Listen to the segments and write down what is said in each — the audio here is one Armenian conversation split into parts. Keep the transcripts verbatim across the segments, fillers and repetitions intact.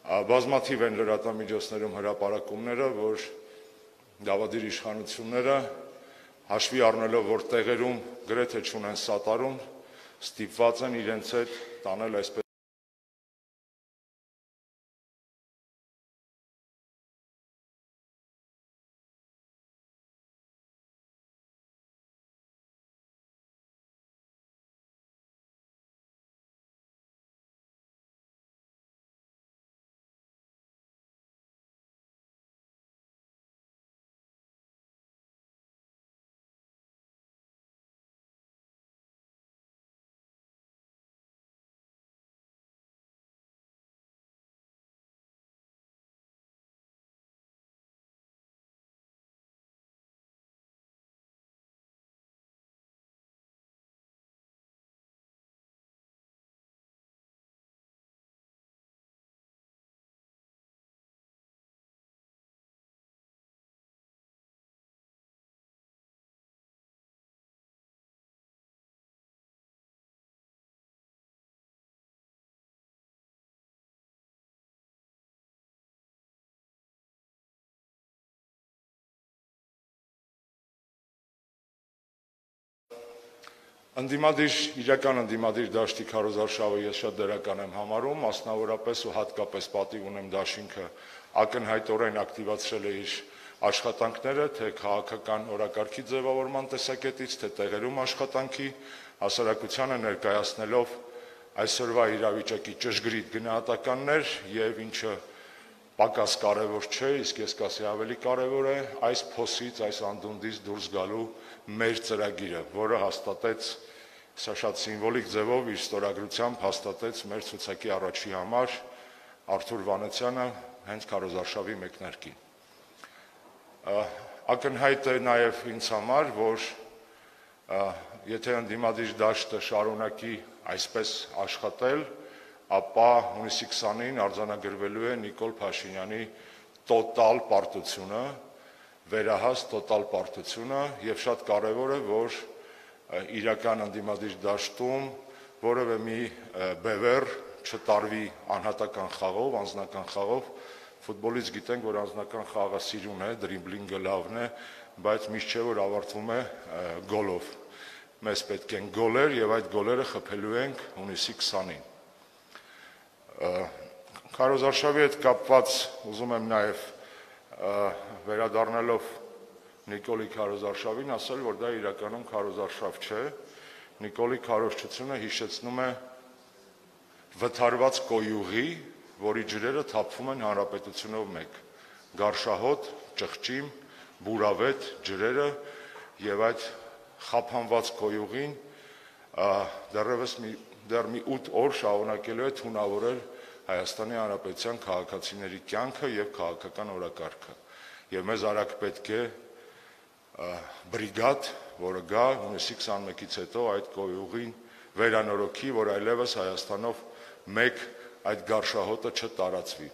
Բազմաթիվ են լրատվամիջոցներում հրապարակումները, որ դավադիր իշխանությունները հաշվի առնելով, որ տեղերում գրեթե չունեն սատարում, ստիպված են իրենց հետ տանել այսպես Ընդդիմադիր, իրական ընդդիմադիր դաշտի քարոզարշավը ես շատ դրական եմ համարում, մասնավորապես ու հատկապես պատիվ ունեմ դաշինքը ակնհայտորեն ակտիվացրել է իր աշխատանքները, թե քաղաքական օրակարգի ձևավորման տեսակետից, թե տեղերում աշխատանքի, հասարակությանը ներկայացնելով այսօրվա իրավիճակի ճշգրիտ գնահատականներ եւ ինչը պակաս կարևոր չէ, իսկ ես կասեի ավելի կարևոր է այս փոսից, այս անդունդից դուրս գալու մեր ծրագիրը, որը հաստատեց, սա շատ սիմվոլիկ ձևով իր ստորագրությամբ հաստատեց մեր ցուցակի առաջի համար Արթուր Վանեցյանը հենց քարոզարշավի մեկնարկին։ Ակնհայտ է նաև ինձ համար, որ եթե ընդդիմադիր դաշտը շարունակի այսպես աշխատել, ապա հունիսի քսանին արձանագրվելու է Նիկոլ Փաշինյանի տոտալ պարտությունը, վերահաս տոտալ պարտությունը եւ շատ կարեւոր է, որ իրական ընդդիմադիր դաշտում որևէ մի բևեռ չտարվի անհատական խաղով, անձնական խաղով, ֆուտբոլից գիտենք, որ անձնական խաղը սիրուն է, դրիբլինգը լավն է, բայց միշտ չէ, որ ավարտվում է գոլով։ Մեզ պետք են գոլեր եւ այդ գոլերը խփելու ենք հունիսի քսանին։ Քարոզարշավի հետ կապված ուզում եմ նաև վերադառնալով Նիկոլի քարոզարշավին ասել, որ դա իրականում քարոզարշավ չէ, Նիկոլի քարոզչությունը հիշեցնում է վթարված կոյուղի, որի ջրերը թափվում են հանրապետությունով մեկ, գարշահոտ, ճղճիմ, բուրավետ ջրերը եւ այդ խափանված կոյուղին դեռևս մի դեռ մի ութ օր շարունակելու է թունավորել Հայաստանի Հանրապետության քաղաքացիների կյանքը եւ քաղաքական օրակարգը։ Եվ մեզ արագ պետք է բրիգադ, որը գա հունիսի քսանմեկից հետո այդ կոյուղին վերանորոգի, որ այլևս Հայաստանով մեկ այդ գարշահոտը չտարածվի։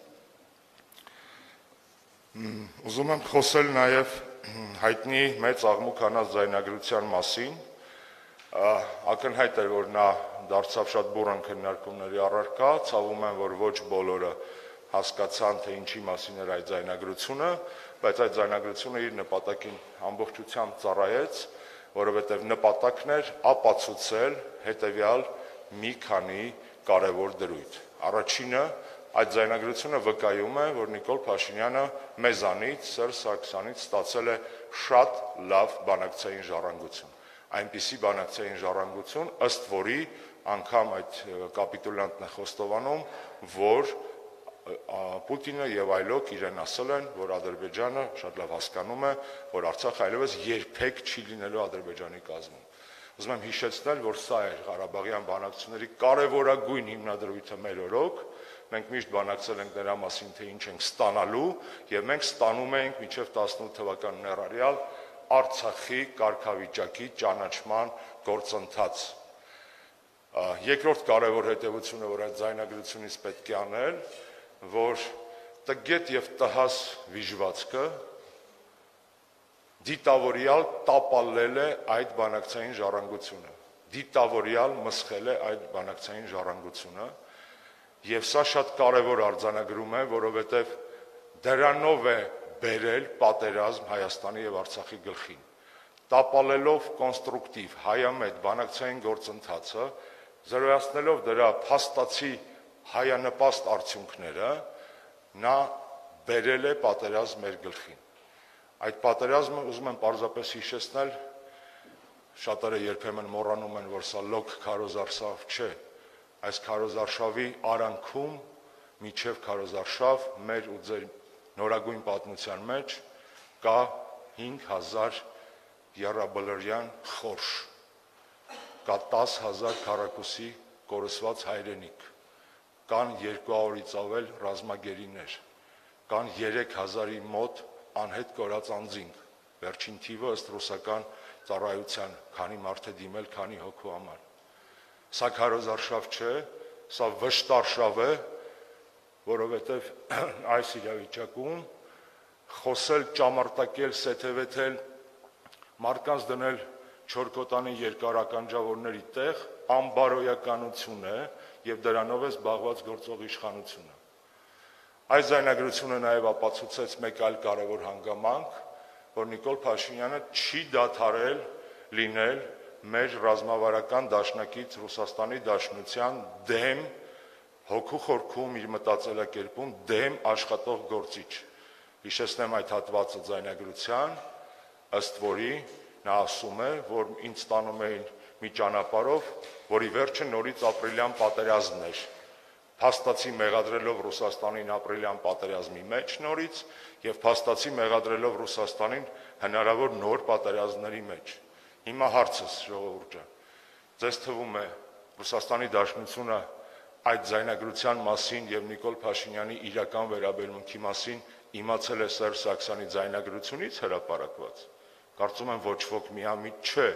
Ուզում եմ խոսել նաեւ հայտնի մեծ աղմուկ հանած ձայնագրության մասին։ Ակնհայտ էր, որ նա դարձավ շատ բուռն քննարկումների առարկա, ցավում եմ, որ ոչ բոլորը հասկացան, թե ինչի մասին էր այդ ձայնագրությունը, բայց այդ ձայնագրությունը իր նպատակին ամբողջությամբ ծառայեց, որովհետև նպատակն էր ապացուցել հետևյալ մի քանի կարևոր դրույթ։ Առաջինը, այդ ձայնագրությունը վկայում է, որ Նիկոլ Փաշինյանը մեզանից, Սերժ Սարգսյանից ստացել է շատ լավ բանակցային ժառանգություն։ Այնպիսի բանակցային ժառանգություն, ըստ որի անգամ այդ կապիտուլյանտն է խոստովանում, որ Պուտինը եւ այլոք իրեն ասել են, որ Ադրբեջանը շատ լավ հասկանում է, որ Արցախը այլևս երբեք չի լինելու Ադրբեջանի կազմում։ Ուզում եմ հիշեցնել, որ սա է Ղարաբաղյան բանակցությունների կարևորագույն հիմնադրույթը մեր օրոք, մենք միշտ բանակցել ենք նրա մասին, թե ինչ ենք ստանալու, եւ մենք ստանում ենք մինչեւ տասնութ թվականն առարյալ Արցախի կարգավիճակի ճանաչման գործընթաց։ Երկրորդ կարևոր հետևությունը, որ այդ ձայնագրությունից պետք է անել, որ տգետ եւ տհաս վիժվածքը դիտավորյալ տապալել է այդ բանակցային ժառանգությունը, դիտավորյալ մսխել է այդ բանակցային ժառանգությունը Եվ սա շատ կարևոր արձանագրում է, որովհետև դրանով է բերել պատերազմ Հայաստանի եւ Արցախի գլխին։ Տապալելով կոնստրուկտիվ հայամետ բանակցային գործընթացը, զրոյացնելով դրա փաստացի հայանպաստ արդյունքները, նա բերել է պատերազմ մեր գլխին։ Այդ պատերազմը ուզում եմ պարզապես հիշեցնել, շատերը երբեմն մոռանում են, որ սա լոկ քարոզարշավ չէ, այս քարոզարշավի արանքում միջև քարոզարշավ մեր ու ձեր նորագույն պատմության մեջ կա հինգ հազար եռաբլրյան խորշ, կա տասը հազար քառակուսի կորսված հայրենիք, կան երկու հարյուրից ավել ռազմագերիներ, կան երեք հազարի մոտ անհետ կորած անձինք, վերջին թիվը ըստ ռուսական ծառայության, քանի մարդ է դիմել, քանի հոգու համար։ Սա քարոզարշավ չէ, սա վշտարշավ է, որովհետև այս իրավիճակում խոսել, ճամարտակել, սեթևեթել, մարդկանց դնել չորքոտանի երկարականջավորների տեղ անբարոյականություն է եւ դրանով է զբաղված գործող իշխանությունը։ Այս ձայնագրությունը նաեւ ապացուցեց մեկ այլ կարևոր հանգամանք, որ Նիկոլ Փաշինյանը չի դադարել լինել մեր ռազմավարական դաշնակից Ռուսաստանի Դաշնության դեմ հոգու խորքում իր մտածելակերպում դեմ աշխատող գործիչ։ Հիշեցնեմ այդ հատվածը ձայնագրության, ըստ որի նա ասում է, որ ինձ տանում էին մի ճանապարհով, որի վերջը նորից ապրիլյան պատերազմն էր, փաստացի մեղադրելով Ռուսաստանին ապրիլյան պատերազմի մեջ նորից եւ փաստացի մեղադրելով Ռուսաստանին հնարավոր նոր պատերազմների մեջ։ Հիմա հարցս, ժողովուրդ ջան, ձեզ թվում է Ռուսաստանի Դաշնությունը այդ ձայնագրության մասին եւ Նիկոլ Փաշինյանի իրական վերաբերմունքի մասին իմացել է Սերժ Սարգսյանի ձայնագրությունից հրապարակված։ Կարծում եմ ոչ ոք միամիտ չէ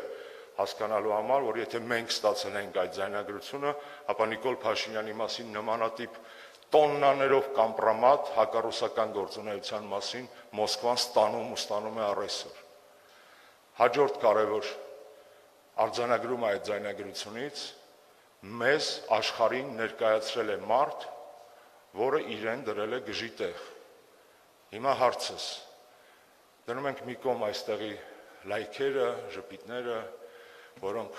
հասկանալու համար, որ եթե մենք ստացել ենք այդ ձայնագրությունը, ապա Նիկոլ Փաշինյանի մասին նմանատիպ տոննաներով կամպրոմատ հակառուսական գործունեության մասին Մոսկվան ստանում ու ստանում է առայսօր։ Հաջորդ կարևոր արձանագրումը այդ ձայնագրությունից մեզ աշխարհին ներկայացրել է մարդ, որը իրեն դրել է գժի տեղ։ Հիմա հարցս, դնում ենք մի կողմ այստեղի լայքերը, ժպիտները, որոնք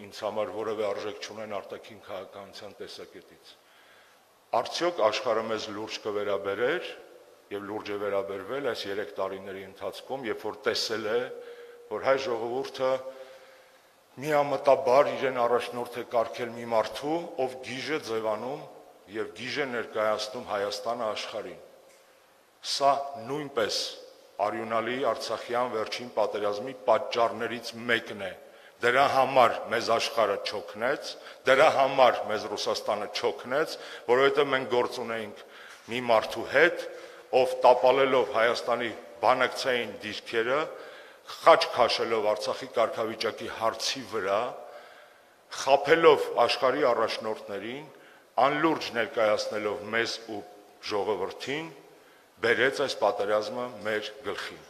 ինձ համար որևէ արժեք չունեն արտաքին քաղաքականության տեսակետից։ Արդյոք աշխարհը մեզ լուրջ կվերաբերեր եւ լուրջ է վերաբերվել այս երեք տարիների ընթացքում, երբ որ տեսել է, որ հայ ժողովուրդը միամտաբար իրեն առաջնորդ է կարգել մի մարդու, ով գիժ է ձևանում եւ գիժ է ներկայացնում Հայաստանը աշխարհին։ Սա նույնպես արյունալի Արցախյան վերջին պատերազմի պատճառներից մեկն է։ Դրա համար մեզ աշխարհը չօգնեց, դրա համար մեզ Ռուսաստանը չօգնեց, որովհետեւ մենք գործ ունեինք մի մարդու հետ, ով տապալելով Հայաստանի բանակցային դիրքերը, խաչ քաշելով Արցախի կարգավիճակի հարցի վրա, խաբելով աշխարհի առաջնորդներին, անլուրջ ներկայացնելով մեզ ու ժողովրդին, բերեց այս պատերազմը մեր գլխին։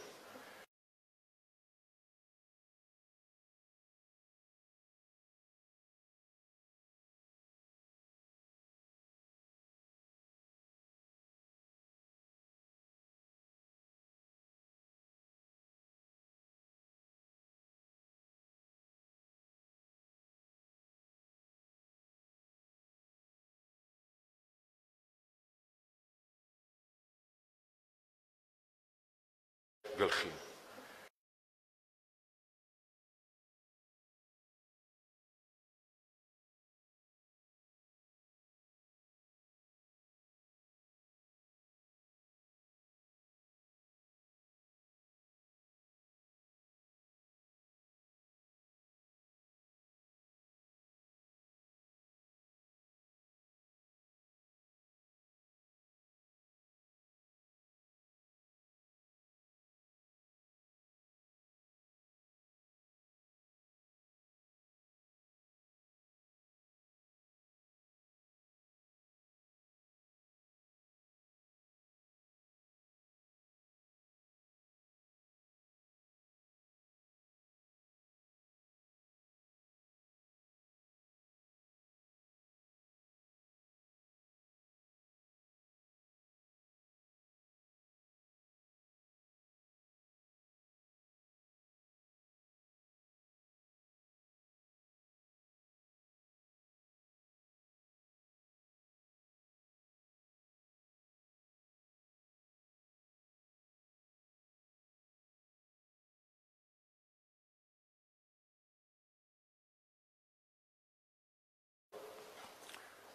Գլխին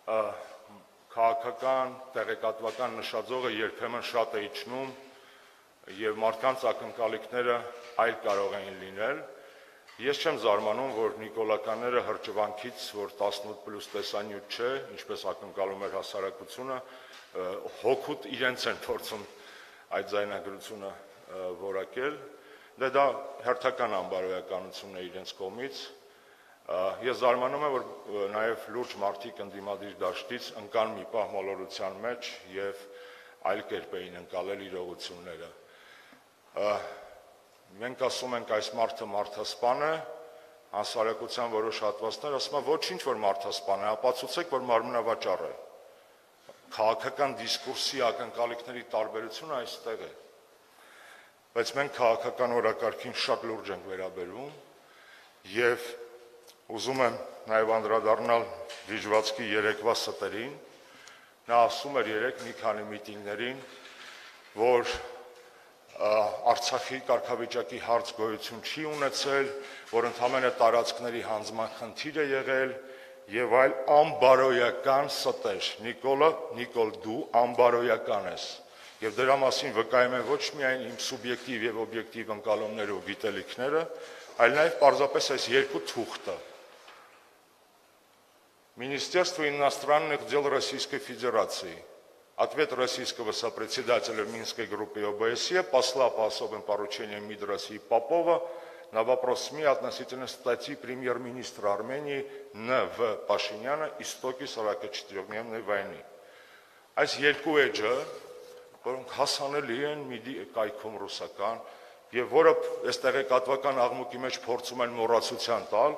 քաղաքական, տեղեկատվական նշաձողը երբեմն շատ է իջնում եւ մարդկանց ակնկալիքները այլ կարող էին լինել։ Ես չեմ զարմանում, որ նիկոլականները հրճվանքից, որ տասնութ պլյուս տեսանյութ չէ, ինչպես ակնկալում էր հասարակությունը, հոգուտ իրենց են փորձում այդ ձայնագրությունը որակել։ Դե դա հերթական անբարոյականություն է իրենց կողմից։ Ես զարմանում եմ, որ նաև լուրջ մարդիկ ընդդիմադիր դաշտից ընկան մի պահ մոլորության մեջ եւ այլ կերպ էին ընկալել իրողությունները։ Մենք ասում ենք այս մարդը մարդասպան է, հասարակության որոշ հատվածներ ասում են ոչինչ որ մարդասպան է, ապացուցեք որ մարմնավաճառ է։ Քաղաքական դիսկուրսի ակնկալիքների տարբերությունը այստեղ է։ Բայց մենք քաղաքական օրակարգին շատ լուրջ ենք վերաբերվում եւ ուզում եմ նաեւ անդրադառնալ Վիժվացքի երեկվա ստերին։ Նա ասում էր երեք մի քանի միտինգներին, որ Արցախի կարգավիճակի հարց գոյություն չի ունեցել, որ ընդհանրապես տարածքների հանձնման խնդիր է եղել եւ այլ անբարոյական ստեր։ Նիկոլը, Նիկոլ դու անբարոյական ես։ Եվ դրա մասին վկայում են ոչ միայն իմ սուբյեկտիվ եւ օբյեկտիվ ընկալումները ու գիտելիքները, այլ նաեւ պարզապես այս երկու թուղթը։ Министерство иностранных дел Российской Федерации. Ответ российского сопредседателя Минской группы ОБСЕ, посла по особым поручениям МИД России Попова на вопрос СМИ относительно статьи премьер-министра Армении Н В Пашиняна «Истоки сорокачетырёхдневной войны». Այս երկու էջը, որոնք հասանելի են ՄԻԴ-ի կայքում ռուսական, եւ որը այս տեղեկատվական աղմուկի մեջ փորձում են մոռացության տալ,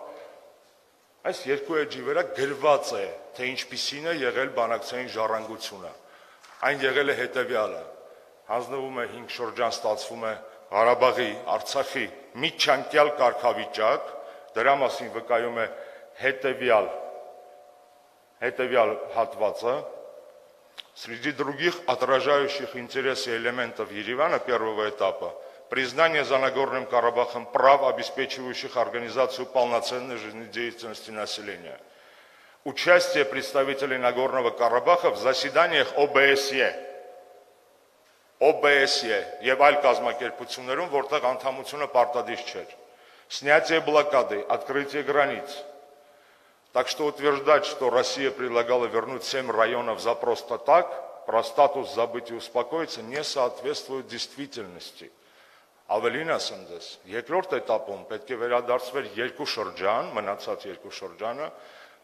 այս երկու էջի վրա գրված է, թե ինչպիսին է եղել բանակցային ժառանգությունը։ Այն եղել է հետևյալը. հանձնվում է հինգ շրջան, ստացվում է Ղարաբաղի, Արցախի միջանկյալ կարգավիճակ, դրա մասին վկայում է հետևյալ հետևյալ հատվածը. Среди других отражающих интересы элементов Еревана первого этапа признание за Нагорным Карабахом прав, обеспечивающих организацию полноценной жизнедеятельности населения. Участие представителей Нагорного Карабаха в заседаниях ОБСЕ, ОБСЕ եւ այլ կազմակերպություններում, որտեղ անդամությունը պարտադիր չէր. снятие блокады, открытие границ. Так что утверждать, что Россия предлагала вернуть семь районов за просто так, про статус забыть и успокоиться, не соответствует действительности. Ավելին ասեմ ձեզ, երկրորդ этапում պետք է վերադարձվեր երկու շրջան, մնացած երկու շրջանը,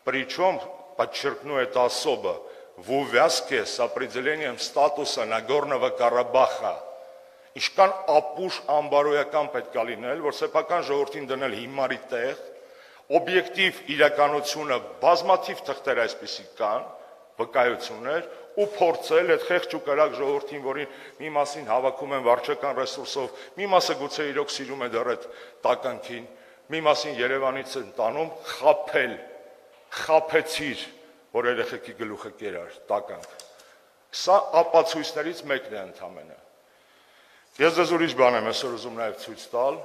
причем, подчеркну это особо, в увязке с определением статуса Нагорного Карабаха. Իշքան ապուշ անբարոյական պետք է լինել, որ սեփական ժողովրդին դնել հիմարի տեղ, օբյեկտիվ իրականությունը բազմաթիվ թղթեր այսպիսի կան, վկայություններ, ու փորձել այդ խեղճ ու կրակ ժողովրդին, որին մի մասին հավաքում են վարչական ռեսուրսով, մի մասը գուցե իրոք սիրում է դեռ այդ տականքին, մի մասին Երևանից են տանում, խաբել, խաբեցիր, որ երեխեքի գլուխը կերար, տականք։ Սա ապացույցներից մեկն է ընդամենը։ Ես ձեզ ուրիշ բան եմ այսօր ուզում նաև ցույց տալ,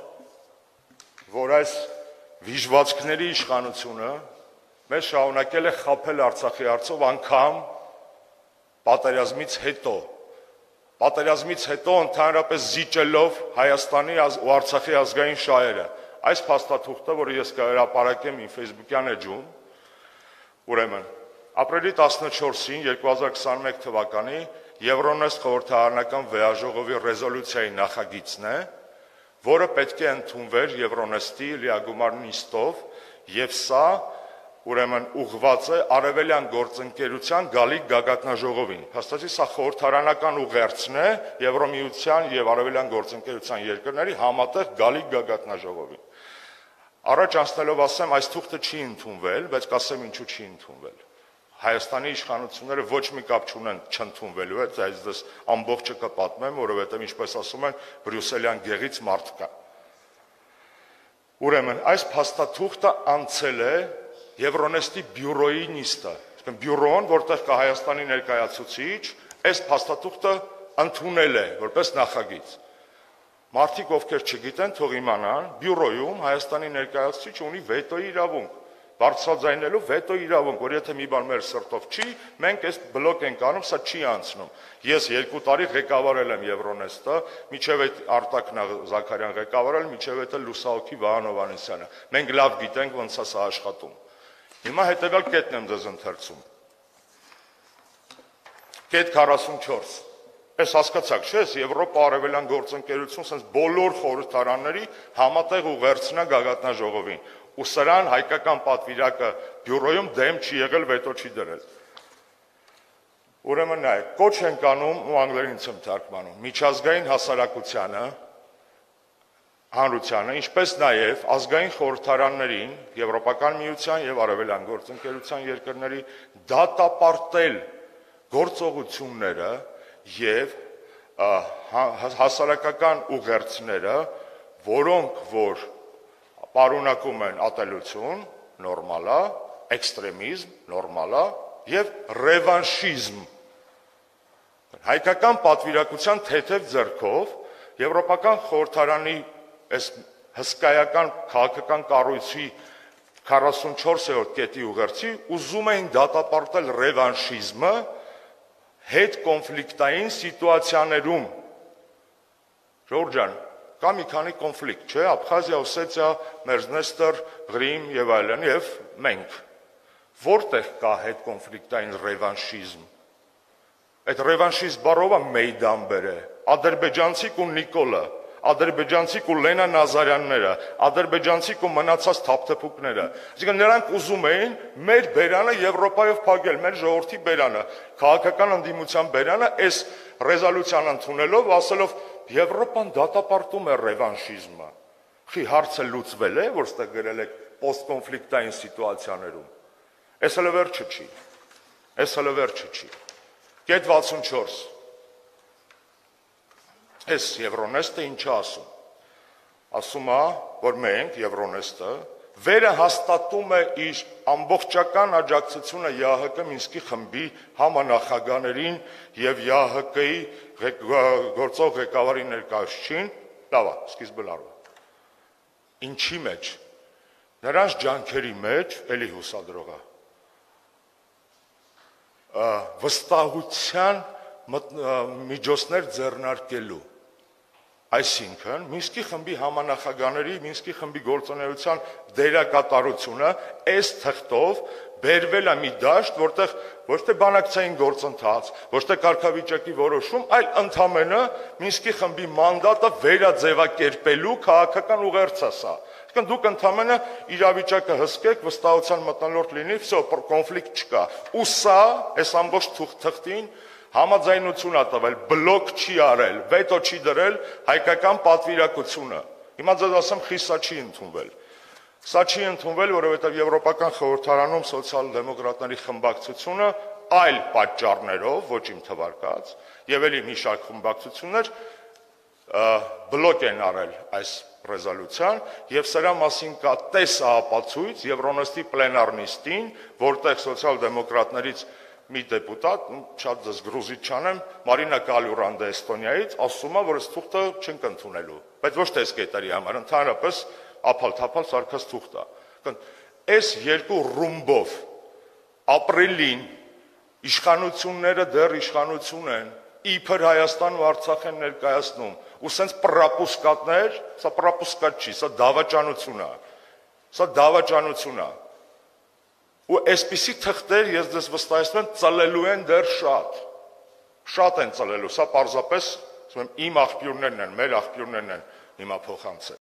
որ այս վիժվածքների իշխանությունը մեզ շարունակել է խաբել Արցախի հարցով անգամ պատերազմից հետո, պատերազմից հետո ընդհանրապես զիջելով Հայաստանի ու Արցախի ազգային շահերը։ Այս փաստաթուղթը, որը ես կհրապարակեմ իմ Facebook-յան էջում, ուրեմն ապրիլի տասնչորսին երկու հազար քսաներեք թվականի Եվրոնեստ խորհրդարանական վեաժողովի ռեզոլյուցիայի նախագիծն է, որը պետք է ընդունվեր Եվրոնեստի լիագումար նիստով, եւ սա ուրեմն ուղղված է արևելյան գործընկերության գալիք գագաթնաժողովին։ Հաստատի սա խորհրդարանական ուղերձն է Եվրոմիության եւ արևելյան գործընկերության երկրների համատեղ գալիք գագաթնաժողովին։ Առաջ անցնելով ասեմ, այս թուղթը չի ընդունվել, բայց կասեմ ինչու չի ընդունվել։ Հայաստանի իշխանությունները ոչ մի կապ չունեն չընդունվելու հետ, այս դες ամբողջը կպատմեմ, որովհետեւ ինչպես ասում են, բրյուսելյան գեղից մարդ կա։ Ուրեմն այս փաստաթուղթը անցել է Եվրոնեստի բյուրոյի նիստը, այսինքն բյուրոն, որտեղ կա Հայաստանի ներկայացուցիչ, այս փաստաթուղթը ընդունել է որպես նախագիծ։ Մարդիկ ովքեր չգիտեն, թող իմանան, բյուրոյում Հայաստանի ներկայացուցիչը ունի վետոյի իրավունք։ բարձրաձայնելու վետո իրավունք, որ եթե մի բան մեր սրտով չի, մենք այս բլոկ ենք անում, սա չի անցնում։ Ես երկու տարի ղեկավարել եմ Եվրոնեստը, միջև այդ Արտակ Զաքարյան ղեկավարել, միջև այդ Լուսահոգի Վահան Հովհաննիսյանը։ Մենք լավ գիտենք ոնց է սա աշխատում։ Հիմա հետևյալ կետն եմ ձեզ ընթերցում։ Կետ քառասունչորս։ Այս հասկացաք, չէ՞, Եվրոպա արևելյան գործընկերություն sense բոլոր խորհրդարանների համատեղ ուղերձնա գագաթնաժողովին։ Ու սրան հայկական պատվիրակը բյուրոյում դեմ չի եղել, վետո չի դրել։ Ուրեմն նայեք, կոչ ենք անում ու անգլերենից եմ թարգմանում միջազգային հասարակությանը, հանրությանը, ինչպես նաև ազգային խորհրդարաններին, Եվրոպական միության եւ արևելյան գործընկերության երկրների դատապարտել գործողությունները եւ հասարակական ուղերձները, որոնք որ պարունակում են ատելություն, նորմալ է, էքստրեմիզմ, նորմալ է եւ ռևանշիզմ։ Հայկական պատվիրակության թեթև ձեռքով Եվրոպական խորհրդարանի այս հսկայական քաղաքական կառույցի քառասունչորսերորդ կետի ուղերձի ուզում էին դատապարտել ռևանշիզմը հետ կոնֆլիկտային սիտուացիաներում։ Ժողովուրդ ջան, կա մի քանի կոնֆլիկտ, չէ՞, Աբխազիա, Օսետիա, Մերձնեստր, Ղրիմ եւ այլն, եւ մենք։ Որտեղ կա հետ կոնֆլիկտային ռևանշիզմ։ Այդ ռևանշիզմ բառովը Մեյդան բերե, ադրբեջանցիք ու Նիկոլը, ադրբեջանցիք ու Լենա Նազարյանները, ադրբեջանցիք ու մնացած թափթփուկները։ Այսինքն նրանք ուզում էին մեր բերանը Եվրոպայով փակել, մեր ժողովրդի բերանը, քաղաքական ընդդիմության բերանը, այս ռեզոլյուցիան ընդունելով, ասելով Եվրոպան դատապարտում է ռևանշիզմը։ Խի հարցը լուծվել է, որ ստեղ գրել եք պոստկոնֆլիկտային սիտուացիաներում։ Այս հələ վերջը չի։ Այս հələ վերջը չի։ Կետ վաթսունչորս։ Այս Եվրոնեստը ինչ է ասում։ Ասում է, որ մենք Եվրոնեստը վերը հաստատում է իր ամբողջական աջակցությունը ԵԱՀԿ Մինսկի խմբի համանախագահներին եւ ԵԱՀԿ-ի գործող ղեկավարի ներկայացուցիչին, լավ է, սկիզբը լավ է։ Ինչի մեջ։ Նրանց ջանքերի մեջ, էլի հուսադրող է, վստահության միջոցներ ձեռնարկելու։ Այսինքն, Մինսկի խմբի համանախագահների, Մինսկի խմբի գործունեության դերակատարությունը այս թղթով բերվել է մի դաշտ, որտեղ ոչ թե բանակցային գործընթաց, ոչ թե կարգավիճակի որոշում, այլ ընդամենը Մինսկի խմբի մանդատը վերաձևակերպելու քաղաքական ուղերձ է սա։ Այսինքն դուք ընդամենը իրավիճակը հսկեք, վստահության մթնոլորտ լինի, վсё, կոնֆլիկտ չկա։ Ու սա, այս ամբողջ թղթին համաձայնություն է տվել, բլոկ չի արել, վետո չի դրել հայկական պատվիրակությունը։ Հիմա ձեզ ասեմ, խի սա չի ընդունվել։ Սա չի ընդունվել, որովհետև Եվրոպական խորհրդարանում սոցիալ-դեմոկրատների խմբակցությունը այլ պատճառներով, ոչ իմ թվարկած, եւ էլի մի շարք խմբակցություններ բլոկ են արել այս ռեզոլյուցիան եւ սրա մասին կա տեսահապացույց Եվրոնեստի պլենար նիստին, որտեղ սոցիալ-դեմոկրատներից մի դեպուտատ, շատ ձեզ գրուզիչ չանեմ, Մարինա Կալյուրանդը Էստոնիայից, ասում է, որ այս թուղթը չենք ընդունելու, բայց ոչ թե այս կետերի համար, ընդհանրապես ափալ-թափալ սարքած թուղթ է։ Այս երկու ռումբով ապրիլին իշխանությունները դեռ իշխանություն են, իբր Հայաստան ու Արցախ են ներկայացնում, ու սենց պրապուսկատներ, սա պրապուսկատ չի, սա դավաճանություն է, սա դավաճանություն է։ Ու այսպիսի թղթեր, ես ձեզ վստահեցնում եմ, ծլելու են դեռ շատ, շատ են ծլելու, սա պարզապես իմ աղբյուրներն են, մեր աղբյուրներն են հիմա փոխանցել։